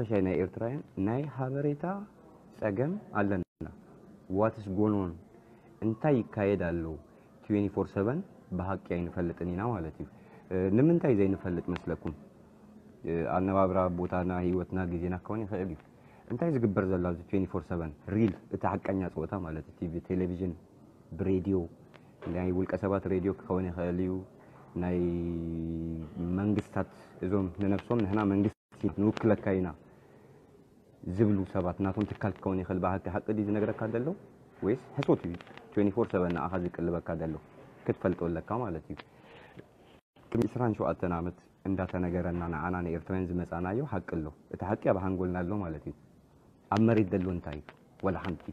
ሓፈሻይ ናይ ኤርትራውያን ናይ ሓበሬታ ጸገም ኣለና። What's going on? እንታይ ይካየድ ኣሎ? Twenty-four seven ብሓቂ ኣይንፈልጥን ኢና ማለት እዩ። ንምንታይ ዘይንፈልጥ መስለኩም? ኣነባብራ ቦታና፣ ህይወትና፣ ግዜና ክኸውን ይኽእል እዩ። እንታይ ዝግበር ዘሎ ኣብዚ twenty-four seven real፣ እቲ ሓቀኛ ጸወታ ማለት እቲ ብቴሌቪዥን፣ ብሬድዮ፣ ናይ ውልቀ ሰባት ሬድዮ ክኸውን ይኽእል እዩ። ናይ መንግስታት፣ እዞም ንነብሶም ንሕና መንግስቲ ንውክለካ ኢና ዝብሉ ሰባት ናቶም ትካል ክኸውን ይኽእል። ብሓቂ ሓቂ ድዩ ዝነግረካ ዘሎ ወይስ ሕሶት እዩ? Twenty-four seven ንኣኻ ዝቅልበካ ዘሎ ክትፈልጦ ኣለካ ማለት እዩ። ቅድሚ ዕስራን ሸውዓተን ዓመት እንዳተነገረና ንዓና ንኤርትራውያን ዝመጻናዮ ሓቂ ኣሎ። እቲ ሓቂ ኣብ ሓንጎልና ኣሎ ማለት እዩ። ኣብ መሬት ዘሎ እንታይ እዩ? ወላ ሓንቲ።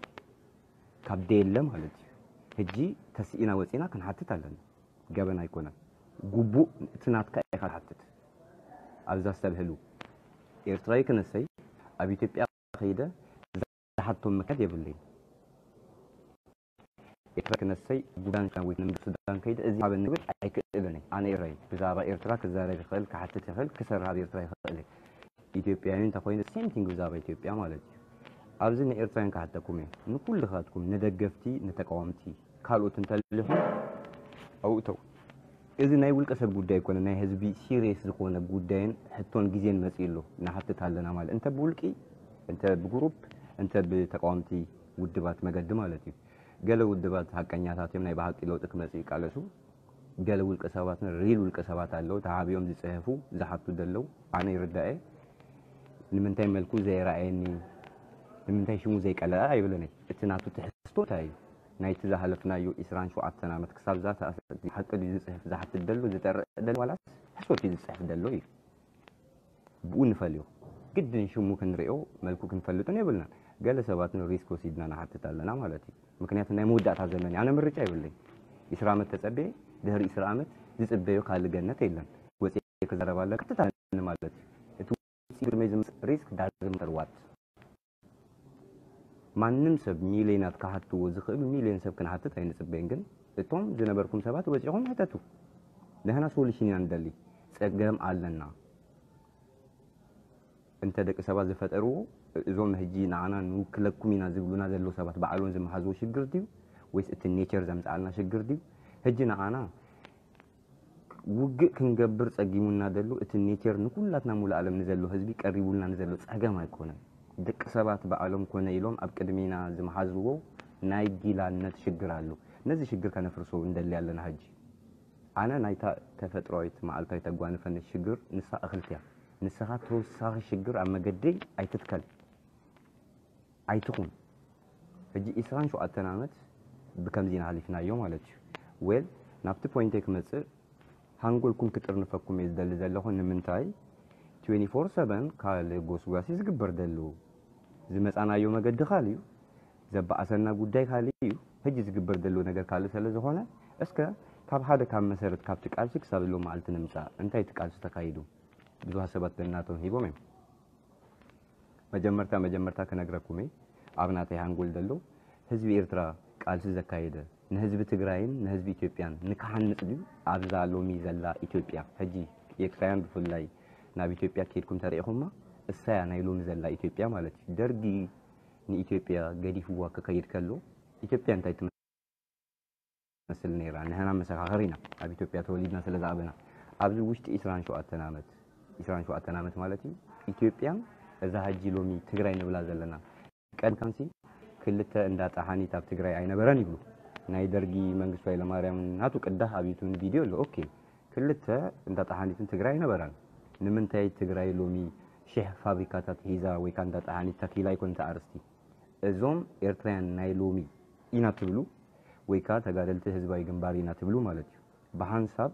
ካብ ደየለ ማለት እዩ። ሕጂ ተስኢና ወጺና ክንሓትት ኣለና። ገበን ኣይኮነን። ግቡእ እቲ ናትካ ኢኻ ትሓትት። ኣብዛ ዝተብህሉ ኤርትራዊ ክነሰይ ኣብ ኢትዮጵያ ከይደ ዝሓቶም ምክንያት የብለይን። ኤርትራ ክነሰይ ጉዳን ወይ ንምድር ሱዳን ከይደ እዚ ሃበኒ ክብል ኣይክእልን እየ። ኣነ ኤርትራዊ ብዛዕባ ኤርትራ ክዛረብ ይኽእል፣ ክሓትት ይኽእል፣ ክሰርሕ ኣብ ኤርትራ ይኽእል እየ። ኢትዮጵያዊ እንተኾይኑ same thing ብዛዕባ ኢትዮጵያ ማለት እዩ። ኣብዚ ንኤርትራውያን ክሓተኩም እየ፣ ንኩልኻትኩም ንደገፍቲ ንተቃወምቲ ካልኦት እንተሊኹም ኣውእተው። እዚ ናይ ውልቀ ሰብ ጉዳይ ኣይኮነ፣ ናይ ህዝቢ ሲሪየስ ዝኾነ ጉዳይን ሕቶን ግዜን መፂኡ ኣሎ። ንሓትት ኣለና ማለት እንተ ብውልቂ እንተ ብግሩፕ እንተ ብተቃወምቲ ውድባት መገዲ ማለት እዩ። ገለ ውድባት ሓቀኛታት እዮም፣ ናይ ብሓቂ ለውጢ ክመፅእ ይቃለሱ። ገለ ውልቀ ሰባትን ሪል ውልቀ ሰባት ኣለዉ ተሓቢኦም ዝፅህፉ ዝሓቱ ዘለዉ። ኣነ ይርዳኤ። ንምንታይ መልኩ ዘየረኣየኒ፣ ንምንታይ ሽሙ ዘይቀለዐ ኣይብለንይ። እቲ ናቱ ትሕዝቶ እንታይ እዩ? ናይቲ ዝሃለፍናዮ ዕስራን ሸውዓተን ዓመት ክሳብ እዛ ሰዓት ሓቂ ድዩ ዝፅህፍ ዝሓትት ደሎ ዝጠርዕ ደሎ ዋላስ ሕሶት እዩ ዝፅሕፍ ደሎ እዩ? ብኡ ንፈልዮ። ግድን ሽሙ ክንሪኦ መልኩ ክንፈልጥን የብልናን። ገለ ሰባት ንሪስክ ወሲድና ንሓትት ኣለና ማለት እዩ። ምክንያቱ ናይ መወዳእታ ዘመን እዩ። ኣነ ምርጫ የብለይ። ዕስራ ዓመት ተጸብየ ድሕሪ ዕስራ ዓመት ዝጽበዮ ካልእ ገነት የለን። ወጺኤ ክዛረብ ኣለ ቀጥታ ማለት እዩ። እቲ ውጽኢ ግርመይ ዝመጽእ ሪስክ doesn't matter what። ማንም ሰብ ሚልዮናት ክሓትዎ ዝኽእሉ ሚልዮን ሰብ ክንሓትት ኣይንጽበይን፣ ግን እቶም ዝነበርኩም ሰባት ወጺኹም ሕተቱ። ንሕና ሶሉሽን ኢና ንደሊ። ጸገም ኣለና። እንተ ደቂ ሰባት ዝፈጠርዎ እዞም ሕጂ ንዓና ንውክለኩም ኢና ዝብሉና ዘለዉ ሰባት ባዕሎም ዝመሓዝዎ ሽግር ድዩ ወይስ እቲ ኔቸር ዘምጽኣልና ሽግር ድዩ? ሕጂ ንዓና ውግእ ክንገብር ጸጊሙና ደሎ እቲ ኔቸር ንኩላትና ሙሉእ ዓለም ንዘሎ ህዝቢ ቀሪቡልና ንዘሎ ጸገም ኣይኮነን። ደቂ ሰባት ባዕሎም ኮነ ኢሎም ኣብ ቅድሚና ዝመሓዝዎ ናይ ጊላነት ሽግር ኣሎ። ነዚ ሽግር ከነፍርሶ እንደሊ ኣለና። ሕጂ ኣነ ናይታ ተፈጥሮኣዊት መዓልታዊ ተጓንፈኒ ሽግር ንሳ እኽልቲ እያ። ንስኻ ተወሳኺ ሽግር ኣብ መገደይ ኣይትትከል። ኣይትኹን። ሕጂ ዕስራን ሸውዓተን ዓመት ብከምዚ ኢና ሓሊፍናዮ ማለት እዩ። ዌል ናብቲ ፖይንተይ ክመጽእ ሃንጎልኩም ክጥርንፈኩም እየ ዝደሊ ዘለኹ። ንምንታይ twenty-four seven ካልእ ጎስጓስ እዩ ዝግበር ደሉ። ዝመጻናዮ መገዲ ካልእ እዩ። ዘበኣሰና ጉዳይ ካልእ እዩ። ሕጂ ዝግበር ደሉ ነገር ካልእ ስለ ዝኾነ እስከ ካብ ሓደ ካብ መሰረት ካብቲ ቃልሲ ክሳብ ሎም መዓልቲ ንምጻእ እንታይ እቲ ቃልሲ ተካይዱ? ብዙሃት ሰባት ነናቶም ሂቦም እዮም። መጀመርታ መጀመርታ ክነግረኩም እየ ኣብ ናተይ ሃንጎል ዘሎ ህዝቢ ኤርትራ ቃልሲ ዘካየደ ንህዝቢ ትግራይን ንህዝቢ ኢትዮጵያን ንክሓንጽ ድዩ ኣብዛ ሎሚ ዘላ ኢትዮጵያ? ሕጂ ኤርትራውያን ብፍላይ ናብ ኢትዮጵያ ከይድኩም ተሪኢኹማ እሳያ ናይ ሎሚ ዘላ ኢትዮጵያ ማለት እዩ። ደርጊ ንኢትዮጵያ ገዲፍዋ ክኸይድ ከሎ ኢትዮጵያ እንታይ ትመስል ነይራ? ንሕና መሰኻኽር ኢና ኣብ ኢትዮጵያ ተወሊድና ስለ ዝዓበና። ኣብዚ ውሽጢ ዕስራን ሸውዓተን ዓመት ዕስራን ሸውዓተን ዓመት ማለት እዩ ኢትዮጵያን እዛ ሕጂ ሎሚ ትግራይ ንብላ ዘለና ቀድም ካንሲ ክልተ እንዳ ጠሓኒት ኣብ ትግራይ ኣይነበረን ይብሉ። ናይ ደርጊ መንግስቱ ኃይለማርያም ናቱ ቅዳሕ ኣብ ዩቱብ ቪድዮ ኣሎ። ኦኬ ክልተ እንዳ ጠሓኒትን ትግራይ ኣይነበራን። ንምንታይ ትግራይ ሎሚ ሽሕ ፋብሪካታት ሒዛ ወይ ከዓ እንዳ ጠሓኒት ተኪላ ይኮን እቲ ኣርስቲ? እዞም ኤርትራውያን ናይ ሎሚ ኢና ትብሉ ወይ ከዓ ተጋደልቲ ህዝባዊ ግንባር ኢና ትብሉ ማለት እዩ። ብሓንሳብ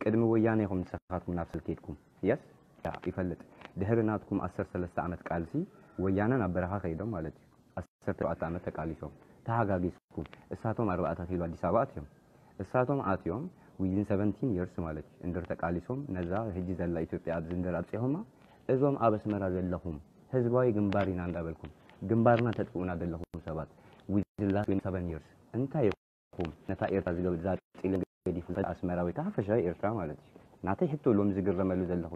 ቅድሚ ወያነ ኢኹም ንስኻትኩም ናብ ሰልፍ ከይድኩም። የስ ይፈልጥ ድሕሪ ናትኩም ዓሰርተ ሰለስተ ዓመት ቃልሲ ወያነ ናብ በረኻ ከይዶም ማለት እዩ። ዓሰርተ ሸውዓተ ዓመት ተቃሊሶም ተሃጋጊስኩም እሳቶም ኣርባዕተ ኪሎ ኣዲስ ኣበባ ኣትዮም። እሳቶም ኣትዮም within seventeen years ማለት እዩ እንድር ተቃሊሶም ነዛ ሕጂ ዘላ ኢትዮጵያ ኣብዚ እንድር ኣብፂኹማ እዞም ኣብ ኣስመራ ዘለኹም ህዝባዊ ግንባር ኢና እንዳበልኩም ግንባርና ተጥፍኡና ዘለኹም ሰባት within last twenty seven years እንታይ ኢኹም ነታ ኤርትራ ዝገብ ዛፂልን ገዲፉ ዝኸድ ኣስመራ ወይ ከዓ ሓፈሻዊ ኤርትራ ማለት እዩ። ናተይ ሕቶ ሎም ዝግረመሉ ዘለኹ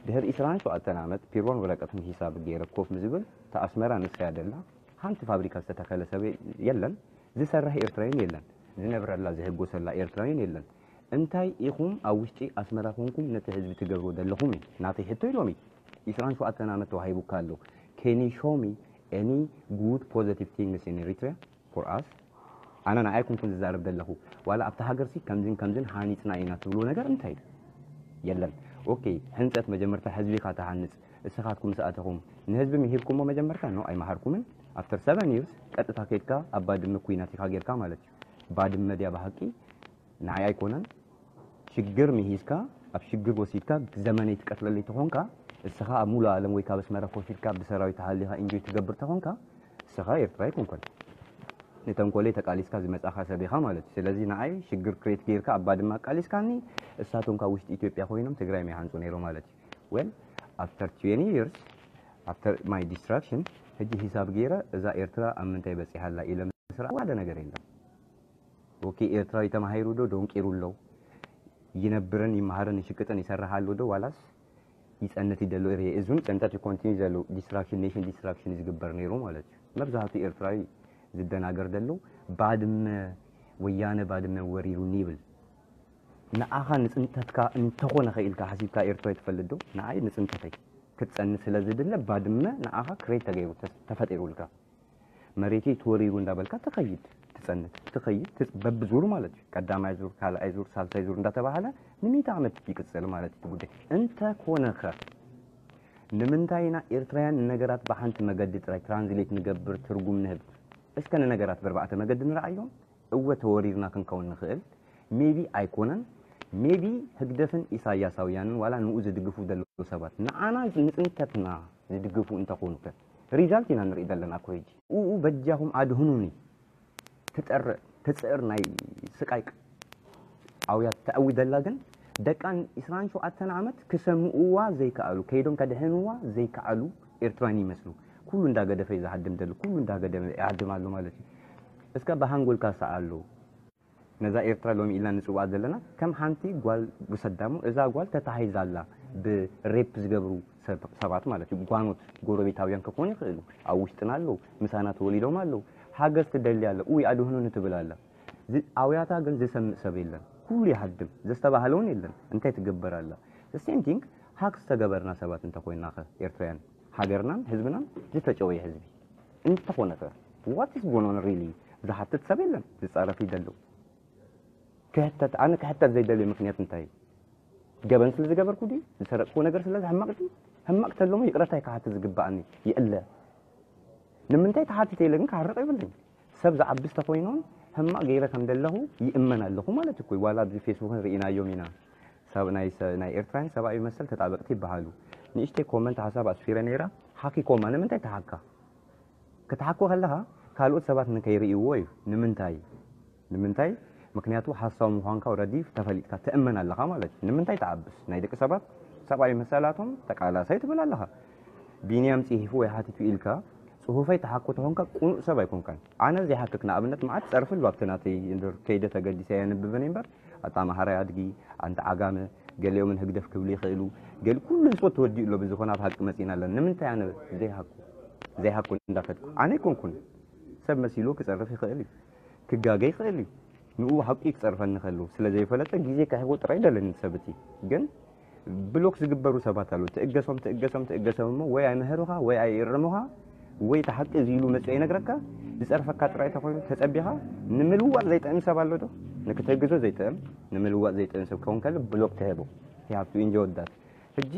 ድሕሪ ዕስራን ሸውዓተን ዓመት ፒሮን ወረቀትን ሂሳብ ገይረ ኮፍ ምዝብል፣ እታ ኣስመራ ንስያ ደላ ሓንቲ ፋብሪካ ዝተተኸለ ሰብ የለን፣ ዝሰርሕ ኤርትራይን የለን፣ ዝነብረላ ዝህጎሰላ ኤርትራይን የለን። እንታይ ኢኹም ኣብ ውሽጢ ኣስመራ ኮንኩም ነቲ ህዝቢ ትገብርዎ ዘለኹም እዩ ናተይ ሕቶ ኢሎም እዩ። ዕስራን ሸውዓተን ዓመት ተዋሂቡካ ኣሎ። Can you show me any good positive things in Eritrea for us? ኣነ ንዓይ ኩንኩን ዝዛረብ ዘለኹ ዋላ ኣብቲ ሃገርሲ ከምዝን ከምዝን ሃኒፅና ኢና ትብልዎ ነገር እንታይ እዩ? የለን። ኦኬ፣ ሕንፀት መጀመርታ ህዝቢኻ ትሃንፅ። እስኻትኩም ሰኣተኹም ንህዝቢ ምሂርኩሞ መጀመርታ ነው ኣይመሃርኩምን። After seven years ቀጥታ ከይድካ ኣብ ባድመ ኩናት ኢኻ ጌርካ ማለት እዩ። ባድመ ድያ ብሃቂ? ንዓይ ኣይኮነን። ሽግር ምሂዝካ ኣብ ሽግር ወሲድካ ዘመነይ ትቀትለለይ ተኾንካ፣ እስኻ ኣብ ሙሉ ዓለም ወይ ካብ ኣስመራ ኮፍ ኢልካ ብሰራዊት ተሃሊኻ ኢንጆይ ትገብር ተኾንካ፣ እስኻ ኤርትራ ኣይኮንኮን። ንተንኮለይ ተቃሊስካ ዝመጻኻ ሰብ ኢኻ ማለት እዩ። ስለዚ ንዓይ ሽግር ክሬት ጌርካ ኣብ ባድመ ኣቃሊስካኒ፣ እሳቶም ካብ ውሽጢ ኢትዮጵያ ኮይኖም ትግራይ ምይሃንጹ ነይሮ ማለት እዩ። Well, after twenty years, after my destruction, ሕጂ ሂሳብ ገይረ እዛ ኤርትራ ኣብ ምንታይ በጺሓ ኣላ ኢለ ምስራ ዋለ ነገር የለን። ኦኬ፣ ኤርትራዊ ተማሂሩ ዶ ደንቂሩ ኣሎ? ይነብርን ይመሃርን ይሽቅጥን ይሰርሕ ኣሎ ዶ ዋላስ ይጸንት ይደሎ? ርየ እዙን ጸንተት ይኮንቲኒ ዘሎ ዲስትራክሽን፣ ኔሽን ዲስትራክሽን ዝግበር ነይሩ ማለት እዩ። መብዛሕትኡ ኤርትራዊ ዝደናገር ዘሎ ባድመ፣ ወያነ ባድመ ወሪሩኒ ይብል። ንኣኻ ንጽንተትካ እንተኾነ ኸኢልካ ሓሲብካ ኤርትራዊ ትፈልጥ ዶ? ንዓይ ንጽንተተይ ክትጸንት ስለ ዝድለ ባድመ ንኣኻ ክሬት ተገይሩ ተስ-፣ ተፈጢሩልካ። መሬተይ ተወሪሩ እንዳበልካ ትኸይድ፣ ትጸንት፣ ትኸይድ፣ ትጽ-፣ በብዙር ማለት እዩ። ቀዳማይ ዙር፣ ካልኣይ ዙር፣ ሳልሳይ ዙር እንዳተባሃለ ንሚእቲ ዓመት ይቅጽል ማለት እዩ እቲ ጉዳይ። እንተኾነ ኸ ንምንታይ ኢና ኤርትራውያን ንነገራት ብሓንቲ መገዲ ጥራይ ትራንስሌት ንገብር፣ ትርጉም ንህብ? እስከ ንነገራት ብኣርባዕተ መገዲ ንረኣዮም። እወ ተወሪርና ክንከውን ንኽእል። ሜቢ ኣይኮነን። ሜቢ ህግደፍን ኢሳያሳውያንን ዋላ ንኡ ዝድግፉ ዘለዉ ሰባት ንዓና ንጽንተትና ዝድግፉ እንተኾኑ ከ? ሪዛልት ኢና ንርኢ ዘለና እኮ ሕጂ። ኡኡ በጃኹም ኣድህኑኒ ትጠርዕ ትጽዕር ናይ ስቃይ ኣውያት ተኣዊ ዘላ ግን ደቃን ዕስራን ሸውዓተን ዓመት ክሰምኡዋ ዘይከኣሉ፣ ከይዶም ከድሕንዋ ዘይከኣሉ ኤርትራን ይመስሉ። ኩሉ እንዳገደፈ እዩ ዝሃድም ዘሎ፣ ኩሉ እንዳገደመ ይሃድም ኣሎ ማለት እዩ። እስከ ብሃንጎልካ ሰኣሉ። ነዛ ኤርትራ ሎሚ ኢልና ንጽውዓ ዘለና ከም ሓንቲ ጓል ውሰዳሞ፣ እዛ ጓል ተታሂዛ ኣላ ብሬፕ ዝገብሩ ሰብ-፣ ሰባት ማለት እዩ። ጓኖት ጎረቤታውያን ክኾኑ ይኽእሉ፣ ኣብ ውሽጥና ኣለዉ፣ ምሳና ተወሊዶም ኣለዉ። ሓገዝ ትደሊ ኣላ፣ ኡይ ኣድህኑኒ ትብል ኣላ። ዝ-፣ ኣውያታ ግን ዝሰምዕ ሰብ የለን። ኩሉ ይሃድም፣ ዘስተባህለ እውን የለን። እንታይ ትግበር ኣላ? The same thing፣ ሃክ ዝተገበርና ሰባት እንተኾይንና ኸ ኤርትራውያን፣ ሃገርናን ህዝብናን ዝተጨወየ ህዝቢ እንተኾነ ኸ? What is going on really? ዝሓትት ሰብ የለን፣ ዝጻረፍ ይደሉ። ክሕተት፣ ኣነ ክሕተት ዘይደልዮ ምኽንያት እንታይ እዩ? ገበን ስለ ዝገበርኩ ድዩ? ዝሰረቅኩዎ ነገር ስለ ሕማቕ ድዩ? ሕማቕ ተሎሞ ይቕረታ እዩ ክሓትት ዝግባኣኒ። ይእለ። ንምንታይ ተሓቲተ ኢለ ግን ክሃርቕ የብለይን። ሰብ ዝዓቢ ዝተኾይኖን ሕማቕ ገይረ ከም ዘለኹ ይእመን ኣለኹ ማለት እኮ እዩ። ዋላ ኣብዚ ፌስቡክን ርኢናዮም ኢና። ሰብ ናይ ሰ-፣ ናይ ኤርትራን ሰብኣዊ መሰል ተጣበቕቲ ይበሃሉ። ንእሽተይ ኮመንት ሓሳብ ኣስፊረ ነይራ። ሓኪኮማ ንምንታይ ተሓካ? ክትሓኮ ከለኻ ካልኦት ሰባት ንከይርእይዎ እዩ። ንምንታይ? ንምንታይ? ምክንያቱ ሓሳዊ ምዃንካ ኦረዲ ተፈሊጥካ ትእመን ኣለኻ ማለት እዩ። ንምንታይ ትዓብስ? ናይ ደቂ ሰባት ሰብኣዊ መሰላቶም ተቃላሳይ ትብል ኣለኻ። ቢንያም ጽሒፉ ወይ ሓቲቱ ኢልካ ጽሑፈይ ተሓኮ ተኾንካ ቅኑእ ሰብ ኣይኮንካን። ኣነ ዘይሓክክ ንኣብነት መዓት ጸርፊ ኣሎ ኣብቲ ናተይ እንድር ከይደ ተገዲሰ የንብብን እምበር ኣታ ኣምሓራይ ኣድጊ፣ ኣንታ ዓጋመ፣ ገሊኦምን ህግደፍ ክብሉ ይኽእሉ። ገሊ ኩሉ ህዝቦት ተወዲኡ ኣሎ ብዝኾነ ኣብ ሓቂ መጺና ኣለና። ንምንታይ ኣነ ዘይሃኩ? ዘይሃኩ እንዳፈትኩ። ኣነ ኣይኮንኩን። ሰብ መሲሉ ክጸርፍ ይኽእል እዩ። ክጋገ ይኽእል እዩ። ንኡ ሓቂ ክጸርፈኒ ከሉ ስለ ዘይፈለጠ ግዜ ክሕቦ ጥራይ ደለኒ ሰብ እቲ። ግን ብሎክ ዝግበሩ ሰባት ኣለዉ። ትእገሶም፣ ትእገሶም፣ ትእገሶም እሞ ወይ ኣይምህሩኻ ወይ ኣይእርሙኻ ወይ እቲ ሓቂ እዚ ኢሉ መጺኡ ይነግረካ። ዝጸርፈካ ጥራይ ተኾይኑ ተጸቢኻ ንምልዋጥ ዘይጥዕም ሰብ ኣሎ ዶ? ንክትህግዞ ዘይጥዕም፣ ንምልዋጥ ዘይጥዕም ሰብ ክኸውን ከሎ ብሎክ ትህቦ። You have to enjoy that። ሕጂ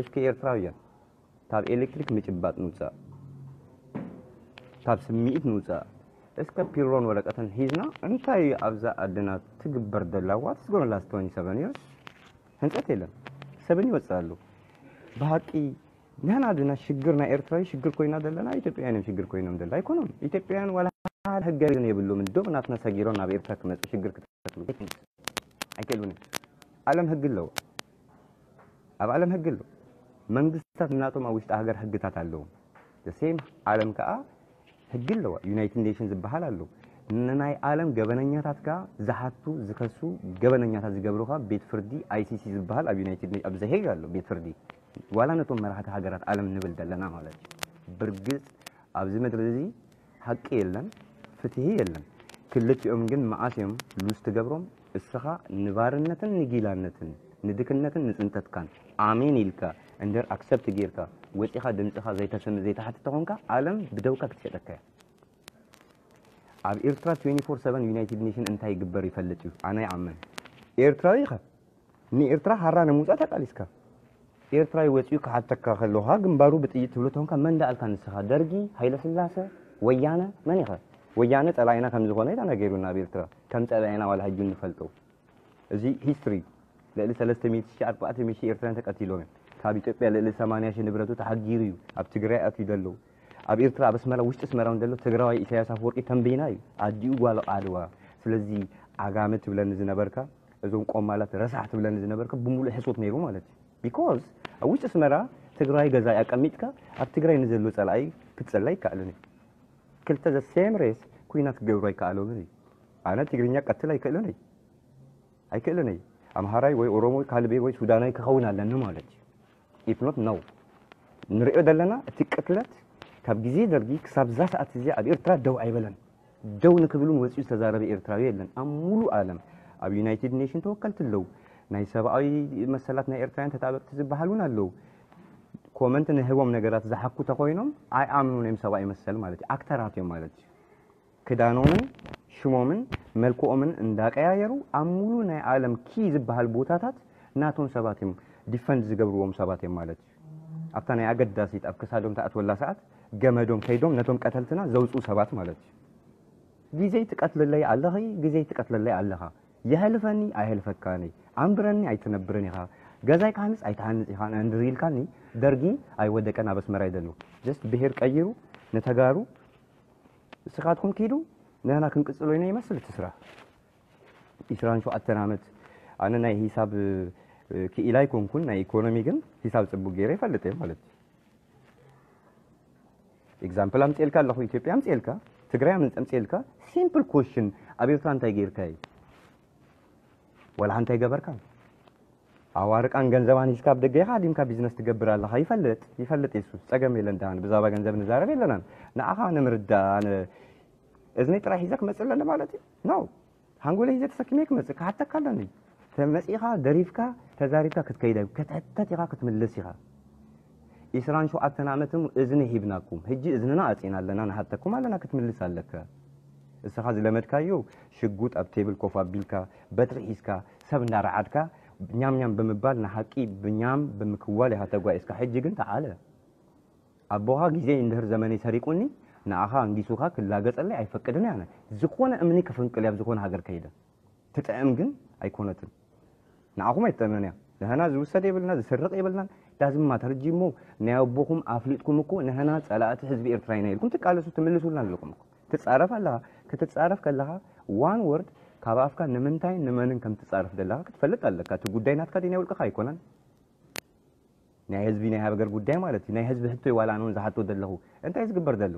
እስኪ ኤርትራውያን ካብ ኤሌክትሪክ ምጭባጥ ንውጻእ፣ ካብ ስምዒት ንውጻእ። እስከ ፒሮን ወረቀትን ሒዝና እንታይ ኣብዛ ኣደና ትግበር ደላ? What is going last twenty seven years? ህንጸት የለን። ሰብን ይወጽእ ኣሎ። ብሓቂ ንሕና ድና ሽግር ናይ ኤርትራዊ ሽግር ኮይና ዘለና ኢትዮጵያውያን እዮም ሽግር ኮይኖም ደላ ኣይኮኖም። ኢትዮጵያውያን ዋላ ሓደ ህገ የብሎም። ዶብ ናትና ሰጊሮም ናብ ኤርትራ ክመጹ ሽግር ክተክሉ ኣይክእሉን እዮም። ዓለም ህጊ ኣለዎ። ኣብ ዓለም ህጊ ኣሎ። መንግስታት ናቶም ኣብ ውሽጢ ሃገር ህግታት ኣለዎም። The same ዓለም ከኣ ህጊ ኣለዋ። ዩናይትድ ኔሽን ዝበሃል ኣሎ። ንናይ ዓለም ገበነኛታትካ ዝሓቱ ዝኸሱ ገበነኛታት ዝገብሩኻ ቤት ፍርዲ ኣይሲሲ ዝበሃል ኣብ ዩናይትድ ኔ- ኣብ ዘሄግ ኣሎ ቤት ፍርዲ። ዋላ ነቶም መራሕቲ ሃገራት ዓለም ንብል ዘለና ማለት እዩ። ብርግጽ ኣብዚ ምድሪ እዚ ሓቂ የለን፣ ፍትሂ የለን። ክልቲኦም ግን መዓስ እዮም ሉዝ ትገብሮም? እስኻ ንባርነትን ንጊላነትን ንድክነትን ንጽንተትካን ኣሜን ኢልካ እንድሕር ኣክሰፕት ጌርካ ወጺኻ ድምጽኻ ዘይተስምዕ ዘይትሓትት ተኾንካ ዓለም ብደውካ ክትሸጠካ እያ። ኣብ ኤርትራ ትዌንቲ ፎር ሰቨን ዩናይትድ ኔሽን እንታይ ይግበር ይፈልጥ እዩ? ኣነ ይኣምን። ኤርትራዊ ኢኻ። ንኤርትራ ሓራ ንምውጻእ ተቃሊስካ። ኤርትራዊ ወጺኡ ክሓተካ ከለኻ ግንባሩ ብጥይት ትብሎ ተኾንካ መን ደኣልካ ንስኻ? ደርጊ፣ ሃይለ ስላሰ፣ ወያነ፣ መን ኢኻ? ወያነ ጸላኢና ከም ዝኾነ እዩ ተነገሩና ኣብ ኤርትራ። ከም ጸላኢና ዋላ ሕጂ ንፈልጦ። እዚ ሂስትሪ ልዕሊ ሰለስተ ሚእቲ ሺሕ ኣርባዕተ ሚእቲ ሺሕ ኤርትራውያን ተቀቲሎም እዮም። ካብ ኢትዮጵያ ልዕሊ ሰማንያ ሺሕ ንብረቱ ተሓጊሩ እዩ ኣብ ትግራይ ኣትዩ ዘሎ። ኣብ ኤርትራ ኣብ ኣስመራ ውሽጢ ኣስመራ እውን ዘሎ ትግራዋይ ኢሳያስ ኣፈወርቂ ተንቤና እዩ ኣዲኡ ጓል ዓድዋ። ስለዚ ዓጋመ ትብለኒ ዝነበርካ እዞም ቆማላት ረሳሕ ትብለኒ ዝነበርካ ብምሉእ ሕሶት ነይሩ ማለት እዩ። ቢኮዝ ኣብ ውሽጢ ኣስመራ ትግራይ ገዛ ኣቀሚጥካ ኣብ ትግራይ ንዘሎ ጸላኢ ክትጸላ ይከኣልን እዩ። ክልተ ዘ ሴም ሬስ ኩናት ክገብሩ ኣይከኣሎምን እዩ። ኣነ ትግርኛ ቀትል ኣይክእልን እዩ። ኣይክእልን እዩ። ኣምሃራይ ወይ ኦሮሞ ወይ ካልቤ ወይ ሱዳናይ ክኸውን ኣለኒ ማለት እዩ። ኢፍ ኖት ነው ንሪኦ ዘለና እቲ ቅትለት ካብ ግዜ ደርጊ ክሳብ ዛ ሰዓት እዚ ኣብ ኤርትራ ደው ኣይበለን። ደው ንክብሉን ወፂኡ ዝተዛረበ ኤርትራዊ የለን ኣብ ሙሉእ ዓለም። ኣብ ዩናይትድ ኔሽን ተወከልቲ ኣለዉ። ናይ ሰብኣዊ መሰላት ናይ ኤርትራውያን ተጣበቅቲ ዝበሃል እውን ኣለዉ። ኮመንት ንህቦም ነገራት ዝሓኩ ተኮይኖም ኣይኣምኑን እዮም ሰብኣዊ መሰል ማለት እዩ። ኣክተራት እዮም ማለት እዩ። ክዳኖምን ሽሞምን መልክኦምን እንዳቀያየሩ ኣብ ሙሉ ናይ ዓለም ኪ ዝበሃል ቦታታት ናቶም ሰባት እዮም ዲፈንድ ዝገብርዎም ሰባት እዮም ማለት እዩ። ኣብታ ናይ ኣገዳሲት ኣብ ክሳዶም ተኣትወላ ሰዓት ገመዶም ከይዶም ነቶም ቀተልትና ዘውፅኡ ሰባት ማለት እዩ። ግዜይ ትቀትልለይ ኣለኺ፣ ግዜይ ትቀትልለይ ኣለኻ። የሕልፈኒ ኣይሕልፈካን፣ ኣንብረኒ ኣይትነብርን ኢኻ፣ ገዛይ ክሃንጽ ኣይትሃንጽ ኢኻ እንድሪልካኒ ደርጊ ኣይወደቀን ኣብ ኣስመራ እዩ ዘሎ። ጀስት ብሄር ቀይሩ ንተጋሩ እስኻትኩም ኪዱ ንሕና ክንቅጽሎ ኢና ይመስል እቲ ስራሕ። ዒስራን ሸውዓተን ዓመት ኣነ ናይ ሂሳብ ክኢላ ኣይኮንኩን ናይ ኢኮኖሚ ግን ሂሳብ ጽቡቅ ገይረ ይፈልጥ እየ ማለት እዩ። ኤግዛምፕል ኣምጽኤልካ ኣለኹ ኢትዮጵያ ኣምጽኤልካ ትግራይ ኣምጽኤልካ ሲምፕል ኮሽን ኣብ ኤርትራ እንታይ ገይርካ እዩ? ወላ ሓንቲ ኣይገበርካን። ኣዋርቃን ገንዘባን ሂዝካ ኣብ ደገ ኢኻ ኣሊምካ ቢዝነስ ትገብር ኣለኻ። ይፈልጥ ይፈልጥ የሱ ጸገም የለን። ዳን ብዛባ ገንዘብ ንዛረብ የለናን። ንኣኻ ንምርዳ ኣነ እዝነይ ጥራይ ሒዘ ክመጽእ ኣለኒ ማለት እዩ? ኖ። ሃንጎለ ሒዘ ተሰኪመ ክመጽእ ክሓተካ ኣለኒ። ተመጺኻ ደሪፍካ ተዛሪብካ ክትከይድ ኣዩ። ክትሕተት ኢኻ ክትምልስ ኢኻ። ዒስራን ሸውዓተን ዓመት እዝኒ ሂብናኩም። ሕጂ እዝንና ኣጺና ኣለና ንሓተኩም ኣለና ክትምልስ ኣለካ። እስኻ ዝለመድካዮ ሽጉጥ ኣብ ቴብል ኮፍ ኣቢልካ በትሪ ሒዝካ ሰብ እንዳረዓድካ ኛም ኛም ብምባል ንሓቂ ብኛም ብምክዋል ኢኻ ተጓዒዝካ። ሕጂ ግን ተዓለ ኣቦኻ ግዜ እንድህር ዘመነይ ሰሪቁኒ ንኣኻ ኣንጊሱኻ ክላገጸለይ ኣይፈቅድን ኣነ ዝኾነ እምኒ ክፍንቅል ኣብ ዝኾነ ሃገር ከይደ ትጥዕም ግን ኣይኮነትን። ንዓኹም ኣይትጠመንያ። ንህና ዝውሰድ የብልና ዝስርቕ የብልናን። ዳዝማተር እጂ እሞ ናይ ኣቦኹም ኣፍሊጥኩም እኮ ንህና ጸላእቲ ህዝቢ ኤርትራ ኢና ኢልኩም ትቃለሱ ትምልሱልና ኣለኹም እኮ። ትጻረፍ ኣለኻ። ክትጻረፍ ከለኻ ዋን ወርድ ካብ ኣፍካ ንምንታይ ንመንን ከም ትጻረፍ ዘለኻ ክትፈልጥ ኣለካ። እቲ ጉዳይ ናትካ ድዩ ናይ ውልቅኻ ኣይኮነን። ናይ ህዝቢ ናይ ሃገር ጉዳይ ማለት እዩ። ናይ ህዝቢ ሕቶ እዩ ዋላ ኣነ እውን ዝሓቶ ዘለኹ እንታይ ዝግበር ዘሎ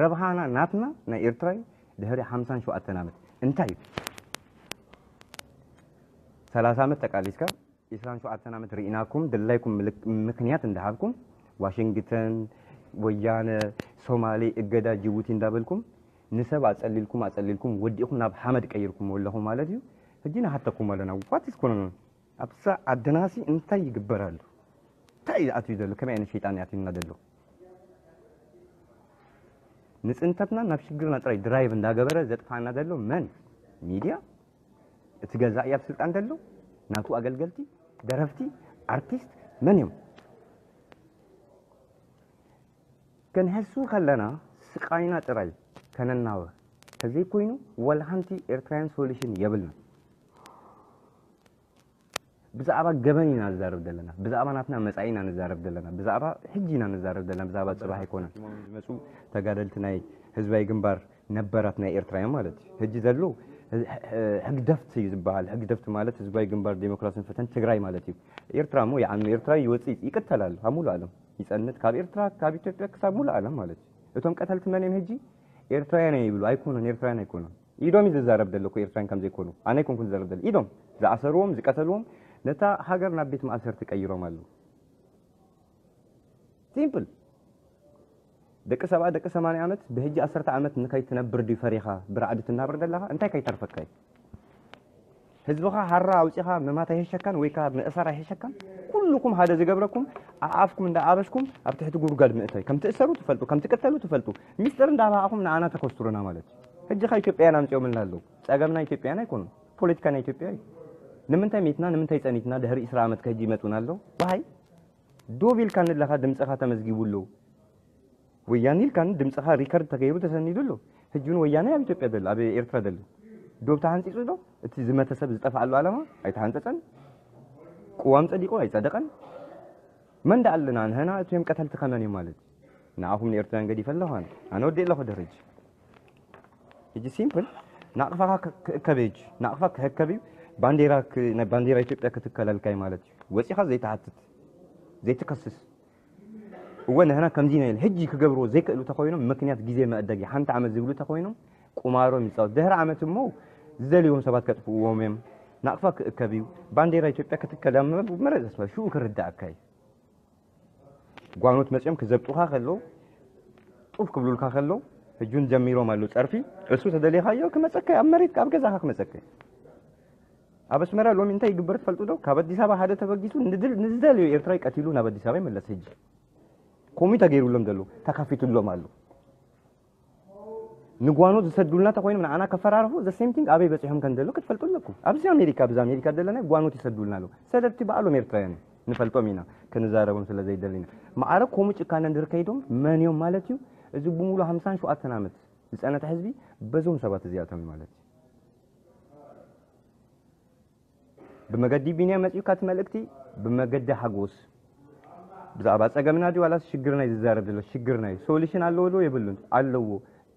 ረብሃና ናትና ናይ ኤርትራ እዩ። ድሕሪ ሓምሳን ሸውዓተን ዓመት እንታይ እዩ ሰላሳ ዓመት ተቃሊስካ ዒስራን ሸውዓተን ዓመት ርኢናኩም ድላይኩም ምልክ- ምክንያት እንዳሃብኩም ዋሽንግተን ወያነ ሶማሌ እገዳ ጅቡቲ እንዳበልኩም ንሰብ ኣጸሊልኩም ኣጸሊልኩም ወዲእኩም ናብ ሓመድ ቀይርኩም ኣለኹም ማለት እዩ። ሕጂ ንሓተኩም ኣለና what is going on ኣብዛ ዓድናሲ እንታይ ይግበር ኣሎ እንታይ እዩ ኣትዩ ዘሎ ከመይ ዓይነት ሸይጣን ኣትዩና ዘሎ ንጽንተትና ናብ ሽግርና ጥራይ ድራይቭ እንዳገበረ ዘጥፋና ዘሎ መን ሚድያ እቲ ገዛኢ ኣብ ስልጣን ዘሎ ናቱ ኣገልገልቲ ደረፍቲ ኣርቲስት መን እዮም ከንሕሱ ከለና ስቃይና ጥራይ ከነናወ ተዘይኮይኑ ወላ ሓንቲ ኤርትራውያን ሶሉሽን የብልና ብዛዕባ ገበን ኢና ንዛረብ ዘለና ብዛዕባ ናትና መጻኢ ኢና ንዛረብ ዘለና ብዛዕባ ሕጂ ኢና ንዛረብ ዘለና ብዛዕባ ጽባሕ ኣይኮነን ዝመጹ ተጋደልቲ ናይ ህዝባዊ ግንባር ነበራት ናይ ኤርትራ እዮም ማለት እዩ ሕጂ ዘሎ ህግደፍት እዩ ዝበሃል ህግደፍት ማለት ህዝባዊ ግንባር ዴሞክራሲን ፍትሕን ትግራይ ማለት እዩ ኤርትራ እሞ ይዓኑ ኤርትራ ይወፅእ ይቅተል ኣሎ ኣብ ሙሉ ዓለም ይፀንት ካብ ኤርትራ ካብ ኢትዮጵያ ክሳብ ሙሉ ዓለም ማለት እዩ እቶም ቀተልቲ መን እዮም ሕጂ ኤርትራውያን እዮም ይብሉ ኣይኮኑን፣ ኤርትራውያን ኣይኮኑን። ኢዶም እዩ ዝዛረብ ዘሎ እኮ ኤርትራውያን ከም ዘይኮኑ። ኣነ ኣይኮንኩን ዝዛረብ ዘሎ። ኢዶም ዝኣሰርዎም፣ ዝቀተልዎም፣ ነታ ሃገር ናብ ቤት ማእሰርቲ ቀይሮም ኣለዉ። ሲምፕል። ደቂ ሰብዓ፣ ደቂ ሰማንያ ዓመት፣ ብሕጂ ዓሰርተ ዓመት ንከይትነብር ድዩ ፈሪኻ ብራዕዲ ትናበር ዘለኻ? እንታይ ከይተርፈካ እዩ? ህዝብኻ ሃራ ኣውጺኻ ምማት ኣይሕሸካን ወይ ከኣ ምእሳር ኣይሕሸካን? ኩልኩም ሓደ ዝገብረኩም ኣኣፍኩም እንዳኣበስኩም ኣብ ትሕቲ ጉድጓድ ምእታይ። ከም ትእሰሩ ትፈልጡ፣ ከም ትቅተሉ ትፈልጡ። ሚስጥር እንዳባኣኹም ንዓና ተከስቱሩና ማለት እዩ። ሕጂ ኸ ኢትዮጵያውያን ኣምጺኦምልና ኣለዉ። ጸገምና ኢትዮጵያውያን ኣይኮኑን። ፖለቲካና ኢትዮጵያ እዩ። ንምንታይ ሜትና፣ ንምንታይ ጸኒትና ድሕሪ ዕስራ ዓመት ከሕጂ ይመጹና ኣለዉ? ዋይ ዶብ ኢልካ ንለኻ ድምጽኻ ተመዝጊቡ ኣሎ። ወያነ ኢልካ ድምጽኻ ሪከርድ ተገይሩ ተሰኒዱ ኣሎ። ሕጂ እውን ወያነ ኣብ ኢትዮጵያ ደሎ፣ ኣብ ኤርትራ ደሎ። ዶብ ተሃንጺጹ ዶ? እቲ ዝመተ ሰብ ዝጠፍኣሉ ዓላማ ኣይተሃንጸጸን። ቅዋም ጸዲቑ ኣይጸደቐን። መን ደኣ ኣለና ንህና እቶም ቀተልቲ ከመን እዮም ማለት? ንኣኹም ንኤርትራውያን ገዲፈ ኣለኹ ኣነ። ኣነ ወዲእ ኣለኹ ድሕሪ ሕጂ። ሕጂ ሲምፕል ናቕፋኻ ክ- ክእከብ እዩ። ናቕፋ ክህከብ እዩ። ባንዴራ ክ- ናይ ባንዴራ ኢትዮጵያ ክትከለልካ እዩ ማለት እዩ። ወጺኻ ዘይትሓትት፣ ዘይትከስስ። እወ ንህና ከምዚ ኢና ኢለ ሕጂ ክገብርዎ ዘይክእሉ ተኾይኖም ምክንያት ግዜ መእደጊ ሓንቲ ዓመት ዝብሉ ተኾይኖም ቁማሮም ይጻወት። ድሕሪ ዓመት እሞ ዝደልዎም ሰባት ከጥፍእዎም እዮም። ናቕፋ ክእከብ እዩ። ባንዴራ ኢትዮጵያ ክትከል ኣብ መ- መረጽ ተስፋ ሽኡ ክርዳእካ እዩ። ጓኖት መጺኦም ክዘብጡኻ ከለዉ ጡፍ ክብሉልካ ከለዉ ሕጁን ጀሚሮም ኣለዉ ጸርፊ። እሱ ተደሊኻዮ ክመጸካ ኣብ መሬት ኣብ ገዛኻ ክመጸካ እዩ። ኣብ ኣስመራ ሎሚ እንታይ ይግበር ትፈልጡ ዶ? ካብ ኣዲስ ኣበባ ሓደ ተበጊሱ ንድል- ንዝደልዮ ኤርትራዊ ቀቲሉ ናብ ኣዲስ ኣበባ ይመለስ። ሕጂ ከምኡ ተገይሩሎም ዘለዉ ተኸፊቱሎም ኣሎ። ንጓኖት ዝሰዱልና ተኮይኖም ንዓና ከፈራርሑ the same thing ኣበይ በጺሖም ከም ዘለዉ ክትፈልጡ ኣለኩም። ኣብዚ ኣሜሪካ ብዛ ኣሜሪካ ዘለና ጓኖት ይሰዱልና ኣለዉ። ሰደድቲ በዓሎም ኤርትራውያን እዮም። ንፈልጦም ኢና ክንዛረቦም ስለ ዘይደሊና። ማዕረ ከምኡ ጭካነ እንድር ከይዶም መን እዮም ማለት እዩ? እዚ ብሙሉ ሓምሳን ሸውዓተን ዓመት ዝጸነተ ህዝቢ በዞም ሰባት እዚኣቶም እዩ ማለት እዩ። ብመገዲ ቢንያም መጺኡካ እቲ መልእክቲ ብመገዲ ሓጎስ ብዛዕባ ጸገምና ድዩ ዋላስ ሽግርና እዩ ዝዛረብ ዘሎ? ሽግርና እዩ። ሶሉሽን ኣለዎ ዶ የብሉን? ኣለዎ።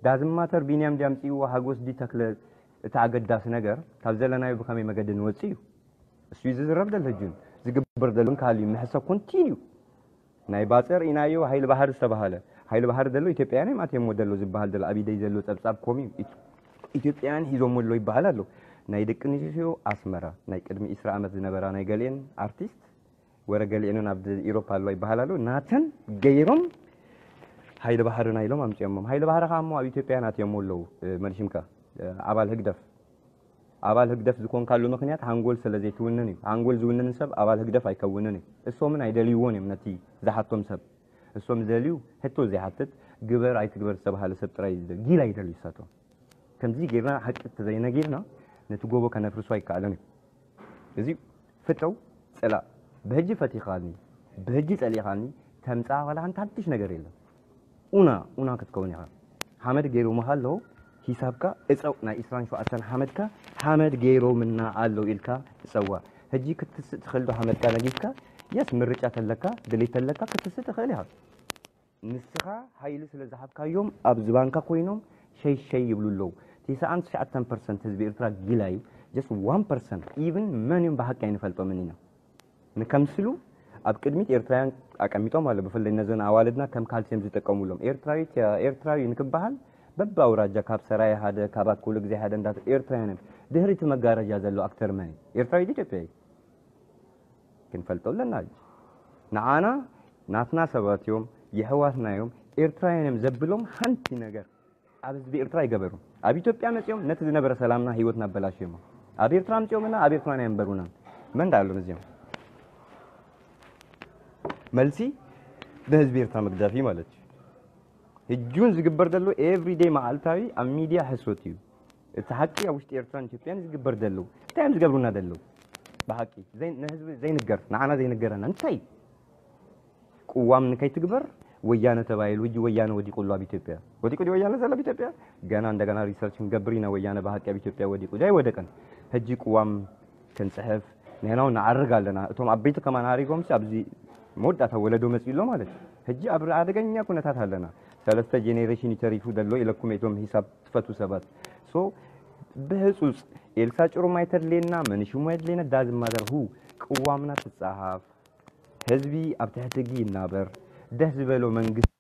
ዳዝማተር ቢንያም ድዩ ኣምጺእዎ ሓጎስ ድዩ ተክለ? እቲ ኣገዳሲ ነገር ካብ ዘለናዮ ብኸመይ መገዲ ንወጽእ እዩ። እሱ እዩ ዝዝረብ ዘሎ። ሕጂ ዝግበር ዘሎ እንካል እዩ ምሕሰብ ኮንቲንዩ ናይ ባጽዕ ርኢናዮ። ሃይለ ባህር ዝተባህለ ሃይለ ባህር ዘሎ ኢትዮጵያውያን እዮም ኣትየሞ ዘሎ ዝበሃል ዘሎ ኣብ ኢደይ ዘሎ ጸብጻብ ኮም እዩ። ኢት- ኢትዮጵያውያን ሒዞሞ ኣሎ ይበሃል ኣሎ። ናይ ደቂ ኣንስትዮ ኣስመራ ናይ ቅድሚ ዕስራ ዓመት ዝነበራ ናይ ገሊኤን ኣርቲስት ወረ ገሊኤን እውን ኣብ ኢሮፓ ኣለዋ ይበሃል ኣሎ። ናተን ገይሮም ሃይለ ባህርና ኢሎም ኣምጺኦሞም። ሃይለ ባህር ከኣ እሞ ኣብ ኢትዮጵያውያን ኣትየሞ ኣለዉ። እ፣ መልሽምካ እ፣ ኣባል ህግደፍ ኣባል ህግደፍ ዝኾንካሉ ምኽንያት ሃንጎል ስለ ዘይትውንን እዩ። ሃንጎል ዝውንን ሰብ ኣባል ህግደፍ ኣይከውንን እዩ። እሶምን ኣይደልይዎን እዮም ነቲ ዝሓቶም ሰብ። እሶም ዝደልዩ ሕቶ ዘይሓትት ግበር ኣይትግበር ዝተባሃለ ሰብ ጥራይ እዩ ዝደልዩ። ጊላ ይደልዩ እሳቶም። ከምዚ ጌርና ሓቂ ተዘይነጊርና ነቲ ጎቦ ከነፍርሶ ኣይከኣልን እዩ። እዚ ፍተው ጽላእ ብህጂ ፈቲኻኒ ብህጂ ጸሊኻኒ ተምጻ ዋላ ሓንቲ ሓድሽ ነገር የለን። ኡና ኡና ክትከውን ኢኻ። ሓመድ ገይሮምኻ ኣለዉ ሂሳብካ እጸው ናይ ዕስራን ሸውዓተን ሓመድካ ሓመድ ገይሮምና ኣለዉ ኢልካ እጸዋ። ሕጂ ክትስእ ትኽእል ዶ ሓመድካ ነጊፍካ? የስ ምርጫ ተለካ ድሌት ተለካ ክትስእ ትኽእል ኢኻ። ንስኻ ሓይሊ ስለ ዝሃብካዮም ኣብ ዝባንካ ኮይኖም ሸይ ሸይ ይብሉ ኣለዉ። ትስዓን ትሽዓተን ፐርሰንት ህዝቢ ኤርትራ ጊላ እዩ። Just one percent even መን እዮም ብሓቂ ኣይንፈልጦምን ኢና። ንከምስሉ ኣብ ቅድሚት ኤርትራውያን ኣቀሚጦም ኣሎ። ብፍላይ ነዘን ኣዋልድና ከም ካልሲየም ዝጥቀሙሎም ኤርትራዊት እያ፣ ኤርትራዊ እዩ ንክበሃል በቢ ኣውራጃ ካብ ሰራየ ሓደ ካብ ኣኩሉ ግዜ ሓደ እንዳ ኤርትራውያን እዮም። ድሕሪ እቲ መጋረጃ ዘሎ ኣክተር መን እዩ? ኤርትራዊ ድዩ ኢትዮጵያዊ? ክንፈልጦ ኣለና። ሕጂ ንዓና ናትና ሰባት እዮም፣ የሕዋትና እዮም፣ ኤርትራውያን እዮም ዘብሎም ሓንቲ ነገር ኣብ ህዝቢ ኤርትራ ኣይገበሩን። ኣብ ኢትዮጵያ መጺኦም ነቲ ዝነበረ ሰላምና ህይወትና ኣበላሽዮሞ። ኣብ ኤርትራ ኣምጺኦምና ኣብ ኤርትራውያን ኣየንበሩናን። መን ደኣ ኣሎም እዚኦም? መልሲ ንህዝቢ ኤርትራ ምግዳፍ እዩ ማለት እዩ። ሕጂ እውን ዝግበር ዘሎ ኤቭሪደይ መዓልታዊ ኣብ ሚድያ ሕሶት እዩ። እቲ ሓቂ ኣብ ውሽጢ ኤርትራን ኢትዮጵያን ዝግበር ዘለዉ እንታይ እዮም ዝገብሩና ዘለዉ? ብሓቂ ዘይ- ንህዝቢ ዘይንገር ንዓና ዘይንገረና እንታይ እዩ? ቅዋም ንከይትግበር ወያነ ተባሂሉ ሕጂ ወያነ ወዲቑ ኣሎ ኣብ ኢትዮጵያ። ወዲቑ ድዩ ወያነ ዘሎ ኣብ ኢትዮጵያ? ገና እንደገና ሪሰርች ክንገብር ኢና ወያነ ብሓቂ ኣብ ኢትዮጵያ ወዲቑ ድዩ ኣይወደቀን? ሕጂ ቅዋም ክንጽሕፍ ንሕና እውን ንዓርግ ኣለና። እቶም ዓበይቲ ከማን ዓሪጎምሲ ኣብዚ መወዳእታ ወለዶ መጺኡ ኣሎ ማለት እዩ። ሕጂ ኣብ ኣደገኛ ኩነታት ኣለና። ሰለስተ ጀኔሬሽን እዩ ተሪፉ ዘሎ ኢለኩም እቶም ሂሳብ ትፈትዉ ሰባት። ሶ ብህጹጽ ኤልሳ ጭሩም ኣይተድልየና፣ መንሽሙ ኣይድልየና፣ ዳዝማተር ሁ ቅዋምና ትጻሃፍ፣ ህዝቢ ኣብ ትሕቲ ሕጊ ይናበር፣ ደስ ዝበሎ መንግስቲ።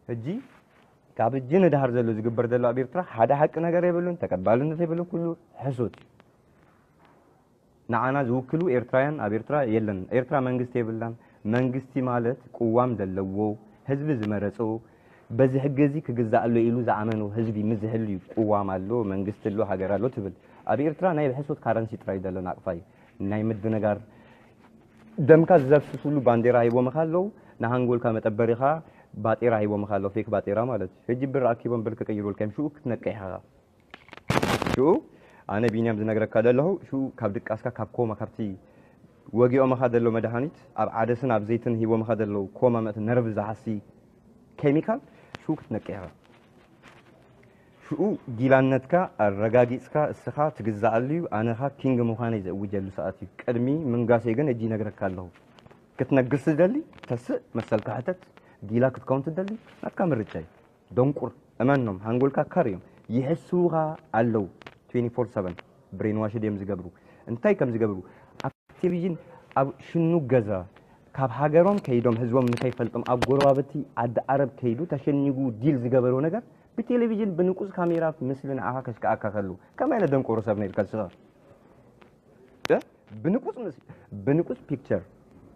ሕጂ ካብ እጂ ንድሃር ዘሎ ዝግበር ዘሎ ኣብ ኤርትራ ሓደ ሓቂ ነገር የብሉን፣ ተቀባልነት የብሉን፣ ኩሉ ሕሱት። ንዓና ዝውክሉ ኤርትራውያን ኣብ ኤርትራ የለን። ኤርትራ መንግስቲ የብላን። መንግስቲ ማለት ቅዋም ዘለዎ፣ ህዝቢ ዝመረጾ፣ በዚ ሕጊ እዚ ክግዛእ ኣሎ ኢሉ ዝኣመኖ ህዝቢ ምስ ዝህሉ እዩ። ቅዋም ኣሎ፣ መንግስቲ ኣሎ፣ ሃገር ኣሎ ትብል። ኣብ ኤርትራ ናይ ብሕሶት ካረንሲ ጥራይ ዘሎ ናቅፋ እዩ። ናይ ምድንጋር ደምካ ዝዘፍስስሉ ባንዴራ ሂቦምኻ ኣለዉ፣ ንሃንጎልካ መጠበሪኻ ባጤራ ሂቦምኻ ኣለዉ፣ ፌክ ባጤራ ማለት እዩ። ሕጂ ብር ኣኪቦም ብር ክቅይሩልካ እዮም፣ ሽኡ ክትነቅሕ ኢኻ። ሽኡ ኣነ ቢንያም ዝነግረካ ዘለኹ፣ ሽኡ ካብ ድቃስካ ካብ ኮማ፣ ካብቲ ወጊኦምኻ ዘሎ መድሃኒት፣ ኣብ ዓደስን ኣብ ዘይትን ሂቦምኻ ዘለዉ ኮማ፣ መእቲ ነርቭ ዝሃሲ ኬሚካል፣ ሽኡ ክትነቅሕ ኢኻ። ሽኡ ጊላነትካ ኣረጋጊጽካ እስኻ ትግዛኣሉ እዩ። ኣነኻ ኪንግ ምዃነይ ዘእውጀሉ ሰዓት እዩ። ቅድሚ ምንጋሰይ ግን እጂ ይነግረካ ኣለኹ። ክትነግስ ትደሊ፣ ተስእ፣ መሰልካ ሕተት፣ ጊላ ክትከውን ትደሊ፣ ናትካ ምርጫ እዩ። ደንቁር፣ እመኖም፣ ሃንጎልካ ካር እዮም። ይሕስዉኻ ኣለዉ። ትዌንቲ ፎር ሰቨን ብሬን ዋሽድ እዮም ዝገብሩ። እንታይ ከም ዝገብሩ፣ ኣብ ቴሌቪዥን፣ ኣብ ሽኑ ገዛ፣ ካብ ሃገሮም ከይዶም ህዝቦም ንከይፈልጦም ኣብ ጎረባብቲ ዓዲ ዓረብ ከይዱ ተሸኒጉ ዲል ዝገበርዎ ነገር ብቴሌቪዥን ብንቁጽ ካሜራ ምስሊ ንዓኻ ከሽክኣካ ከሉ ከመይ ዓይነት ደንቆሮ ሰብ ነይርካ ንስኻ? እ? ብንቁጽ ምስ-፣ ብንቁጽ ፒክቸር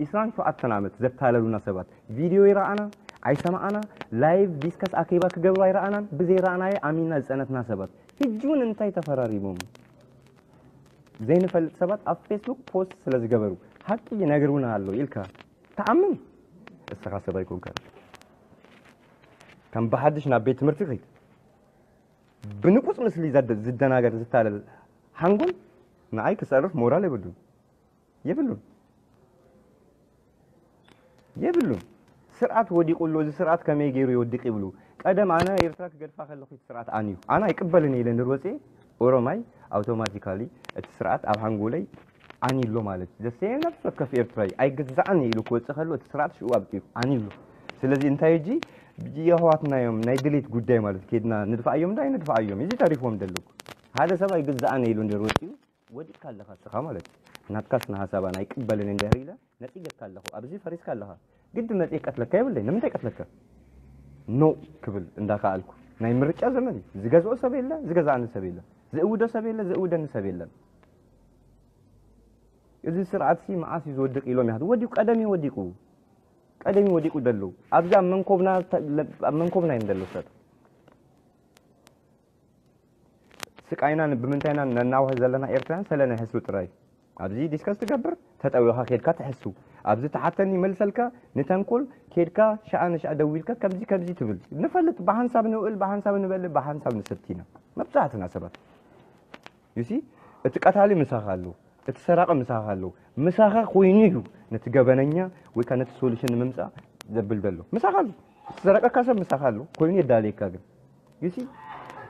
ዒስራን ሸውዓተን ዓመት ዘታለሉና ሰባት ቪድዮ ይረኣና፣ ኣይሰማኣና፣ ላይቭ ዲስከስ ኣኬባ ክገብሩ ኣይረኣናን፣ ብዘይረኣናዮ ኣሚንና ዝጸነትና ሰባት ሕጂ እውን እንታይ ተፈራሪሞም ዘይንፈልጥ ሰባት ኣብ ፌስቡክ ፖስት ስለ ዝገበሩ ሓቂ ይነግሩና ኣሎ ኢልካ ትኣምን? እስኻ ሰብ ኣይኮንካን። ከም ብሓድሽ ናብ ቤት ትምህርቲ ኺድ። ብንቁጽ ምስሊ ዘደ-፣ ዝደናገር ዝታለል ሓንጎል ንኣይ ክጸርፍ ሞራል የብሉን። የብሉን። የብሉን። ስርዓት ወዲቑ ኣሎ። እዚ ስርዓት ከመይ ገይሩ ይወድቕ ይብሉ። ቀደም ኣነ ኤርትራ ክገድፋ ከለኹ እቲ ስርዓት ኣንዩ። ኣነ ኣይቅበልን ኢለ እንድር ወፅየ ኦሮማይ ኣውቶማቲካሊ እቲ ስርዓት ኣብ ሓንጎለይ ኣንዩ ኣሎ ማለት እዩ። ዘሰየ ነፍሲ ወከፍ ኤርትራዊ ኣይግዛእን ኢሉ ክወፅእ ከሎ እቲ ስርዓት ሽኡ ኣብቂኡ ኣንዩ ኣሎ። ስለዚ እንታይ እጂ የሕዋትና እዮም ናይ ድሌት ጉዳይ ማለት ከይድና ንድፋኣዮም ዳ ኣይንድፋኣዮም እዚ ተሪፍዎም ዘለኩ። ሓደ ሰብ ኣይግዛእን ኢሉ እንድር ወፅዩ ወዲቕካ ኣለኻ እስኻ ማለት እዩ። ናትካ ስነ ሓሳብ ኣነ ኣይቅበልን እንድሕር ኢለ ነጺገካ ኣለኹ። ኣብዚ ፈሪስካ ኣለኻ። ግዲ መጺእ ቀትለካ የብለይ። ንምንታይ ቀትለካ? ኖ ክብል እንዳኸኣልኩ። ናይ ምርጫ ዘመን እዩ። ዝገዝኦ ሰብ የለ፣ ዝገዛእኒ ሰብ የለ። ዝእውዶ ሰብ የለ፣ ዝእውደኒ ሰብ የለን። እዚ ስርዓትሲ መዓስ እዩ ዝወድቕ ኢሎም ይሓት-፣ ወዲቑ፣ ቀደም እዩ ወዲቑ። ቀደም እዩ ወዲቑ ደሎ። ኣብዚ ኣብ መንኮብና ተ-፣ ኣብ መንኮብና እዮም ደሎ ሰብ። ስቃይና ን-፣ ብምንታይና ነናውህ ዘለና ኤርትራውያን ሰለ ናይ ሕሱ ጥራይ። ኣብዚ ዲስከስ ትገብር፣ ተጠዊኻ ኬድካ ትሕሱ። ኣብዚ ተሓተኒ ይመልሰልካ፣ ንተንኮል ኬድካ ሸኣ ንሸኣ ደዊልካ ከምዚ ከምዚ ትብል። ንፈልጥ፣ ብሓንሳብ ንውዕል፣ ብሓንሳብ ንበልዕ፣ ብሓንሳብ ንሰቲ ኢና። መብዛሕትና ሰባት። You see? እቲ ቀታሊ ምሳኻ ኣሎ፣ እቲ ሰራቂ ምሳኻ ኣሎ። ምሳኻ ኮይኑ እዩ ነቲ ገበነኛ ወይ ከኣ ነቲ ሶሉሽን ንምምጻእ ዘብል ዘሎ። ምሳኻ ኣሎ። እቲ ዝሰረቀካ ሰብ ምሳኻ ኣሎ፣ ኮይኑ የዳልየካ ግን። You see?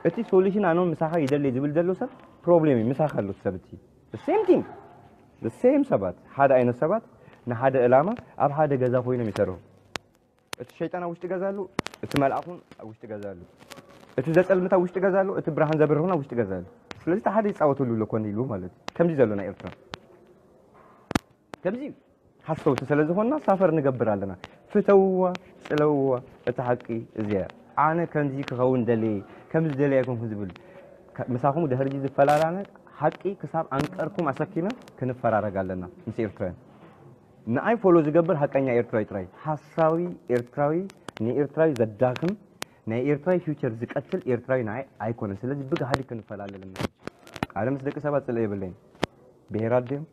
እቲ ሶሉሽን ኣነ ምሳኻ ይደሊ ዝብል ዘሎ ሰብ ፕሮብሌም እዩ፣ ምሳኻ ኣሎ እቲ ሰብ እቲ። The same thing። The same ሰባት፣ ሓደ ዓይነት ሰባት ንሓደ ዕላማ ኣብ ሓደ ገዛ ኮይኖም ይሰርሑ። እቲ ሸይጣን ኣብ ውሽጢ ገዛ ኣሎ፣ እቲ መልኣኹን ኣብ ውሽጢ ገዛ ኣሎ። እቲ ዘጸልምት ኣብ ውሽጢ ገዛ ኣሎ፣ እቲ ብርሃን ዘብርህ እውን ኣብ ውሽጢ ገዛ ኣሎ። ስለዚ እቲ ሓደ ይጻወተሉ ኣሎ ኮነ ኢሉ ማለት እዩ። ከምዚ ዘሎ ናይ ኤርትራ። ከምዚ እዩ። ሓሰውቲ ስለ ዝኾንና ሳፈር ንገብር ኣለና። ፍተውዋ፣ ጽለውዋ፣ እቲ ሓቂ እዚ እያ። ኣነ ከምዚ ክኸውን ደልየ፣ ከምዚ ደልየ ኣይኮንኩን ዝብል። ከ-፣ ምሳኹም ድሕሪ እዚ ዝፈላላነ ሓቂ ክሳብ ኣንቀርኩም ኣሰኪመ ክንፈራረግ ኣለና ምስ ኤርትራውያን። ንኣይ ፎሎ ዝገብር ሓቀኛ ኤርትራዊ ጥራይ። ሓሳዊ ኤርትራዊ ንኤርትራዊ ዘዳኽም፣ ናይ ኤርትራዊ ፊውቸር ዝቀትል ኤርትራዊ ንኣይ ኣይኮነን። ስለዚ ብጋህዲ ክንፈላለ ኣለና። ኣነ ምስ ደቂ ሰባት ጽልኢ የብለይን። ብሄራት ድዮም?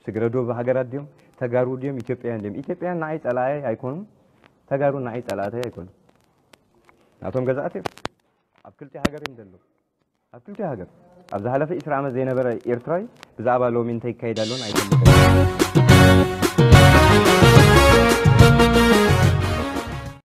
ስግረ ዶብ ሃገራት ድዮም? ተጋሩ ድዮም? ኢትዮጵያውያን ድዮም? ኢትዮጵያውያን ንኣይ ጸላኣይ ኣይኮኑን። ተጋሩ ንኣይ ጸላእተይ ኣይኮኑን። ናቶም ገዛእቲ እዮም። ኣብ ክልቲኡ ሃገር እዮም ዘለዉ። ኣብ ክልቲኡ ሃገር። ኣብ ዝሓለፈ ዒስራ ዓመት ዘይነበረ ኤርትራዊ ብዛዕባ ሎሚ እንታይ ይካየድ ኣሎን ኣይፈልጥን።